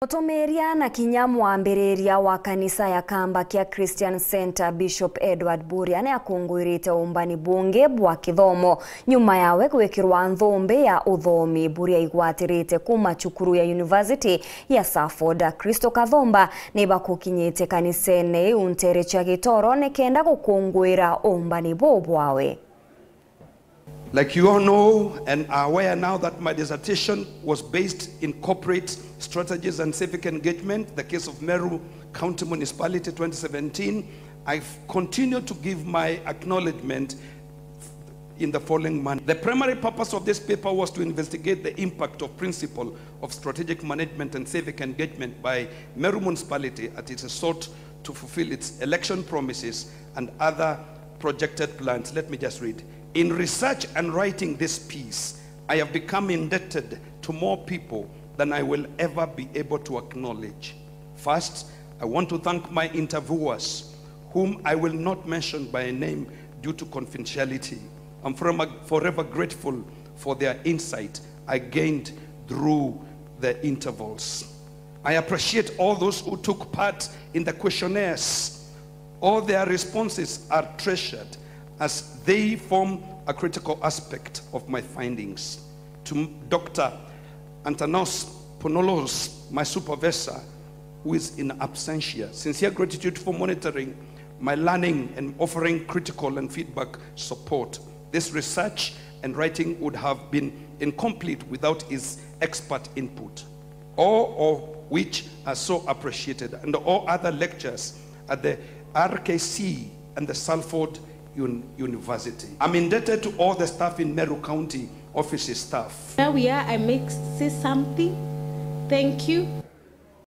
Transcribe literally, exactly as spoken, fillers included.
Mutumiria na kinya mwambiriria wa kanisa ya Kamba kia Christian Centre, Bishop Edward Buria, ni akungwirite umbani bungi bwa kithomo nyuma yawe gwikirwa nthumbi ya uthomi. Buria aigwatirite kuma cukuru ya University ya Salford. Kristo Kathumba ni bakukinyite kanisene iu ntere cia Gitoro nikenda gukungwira umbani buu bwawe. Like you all know and are aware now that my dissertation was based in corporate strategies and civic engagement, the case of Meru County Municipality twenty seventeen, I continue to give my acknowledgement in the following manner. The primary purpose of this paper was to investigate the impact of principle of strategic management and civic engagement by Meru Municipality as it sought to fulfill its election promises and other projected plans. Let me just read. In research and writing this piece, I have become indebted to more people than I will ever be able to acknowledge. First, I want to thank my interviewers, whom I will not mention by name due to confidentiality. I'm forever, forever grateful for their insight I gained through the intervals. I appreciate all those who took part in the questionnaires. All their responses are treasured as they form a critical aspect of my findings. To Doctor Antanos Ponolos, my supervisor, who is in absentia, sincere gratitude for monitoring my learning and offering critical and feedback support. This research and writing would have been incomplete without his expert input, all of which are so appreciated, and all other lectures at the R K C and the Salford Un-, University. I'm indebted to all the staff in Meru County, office staff. Where we are, I make say something. Thank you.